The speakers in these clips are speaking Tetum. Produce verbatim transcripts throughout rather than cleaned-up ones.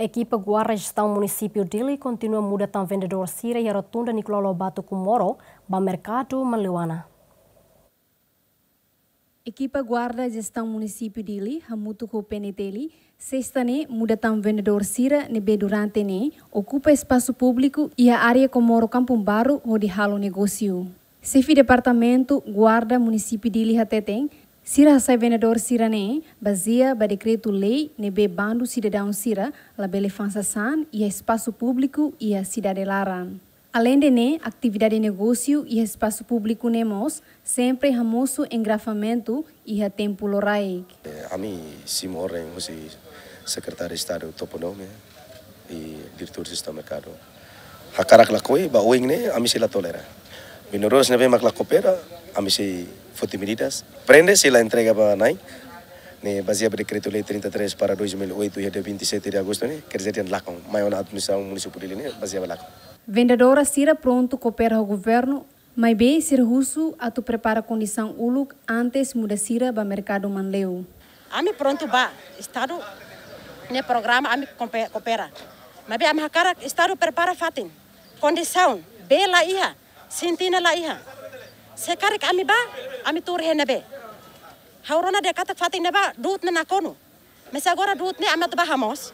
Ekipa Guarda Jestaun Munisípiu Dili kontinua muda tan vendedór sira iha Rotunda Nicolau Lobato Comoro ba Merkadu Manleuana. Ekipa Guarda Jestaun Munisípiu Dili hamutuk ho P N T L, Sesta ne'e muda tan vendedór sira ne'ebé durante ne'e okupa espasu públiku iha área Comoro Kampung Baru hodi halo negósiu. Xefe Departamentu Guarda Munisípiu Dili hateten, sira hasai vendedór sira ne'e bazeia ba dekretu-lei ne'ebé bandu sidadaun sira labele fa'an sasán iha espasu públiku iha sidade laran. Aleinde ne'e, atividade negósiu iha espasu públiku ne'e mós sempre hamosu engarrafamentu iha tempu loraik. Eh, ami simu orden husi Sekretáriu Estadu Toponímia i Diretór Jestaun Merkadu. Hakarak lakohi, ba oin ne'e, ami sei la tolera. Vendedores ne'ebé mak la koopera, ami sei foti medidas. Prende se la entrega ba na'in. Ne'e bazeia ba dekretu-lei trinta e três barra dois mil e oito, iha dia vinte e sete de agosto ne'e, quer dizer, lakon. Mai ona administrasaun munisípiu Dili ne'e, bazeia ba lakon. Vendedora sira prontu koopera ho governu, maibé sira husu atu prepara kondisaun uluk antes muda sira ba Merkadu Manleu. Ami prontu ba, Estadu nia programa ami kompe-, koopera. Maibé ami hakarak Estadu prepara fatin. Kondisaun, bee la iha, sintina la iha. Se karik ami ba, ami tuur iha ne'ebé? Ha'u rona dehan katak fatin ne'ebá du'ut ne'e nakonu. Mas agora du'ut ne'e ami atu ba hamoos.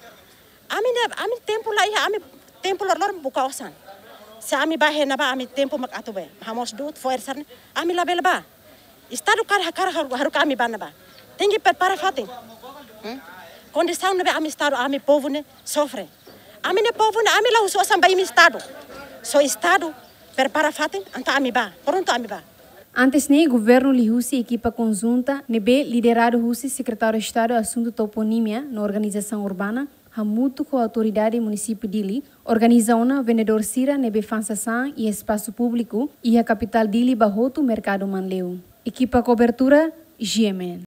Ami ne'e, ami tempu la iha, ami tempu loroloron buka osan. Se ami ba iha ne'ebá, ami tempu mak atu bee. Hamoos du'ut, fo'er sira-ne'e, ami labele ba. Estadu karik, karik haru-, haruka ami ba ne'ebá. Tenke prepara fatin. Hmm? Kondisaun ne'ebé ami Estadu, ami povu ne'e sofre. Ami-nia povu ne'e, ami la husu osan ba imi Estadu. Só Estadu prepara fatin, entaun ami ba. Prontu ami ba. Antes ne'e, governu liuhusi ekipa konjunta ne'ebé lideradu husi Sekretáriu Estadu Asuntu Toponímia no Organizasaun Urbana, hamutuk ho Autoridade Munisípiu Dili, organiza ona vendedór sira ne'ebé fa'an sasán iha espasu públiku iha kapitál Dili ba hotu Merkadu Manleu. Ekipa kobertura, G M N.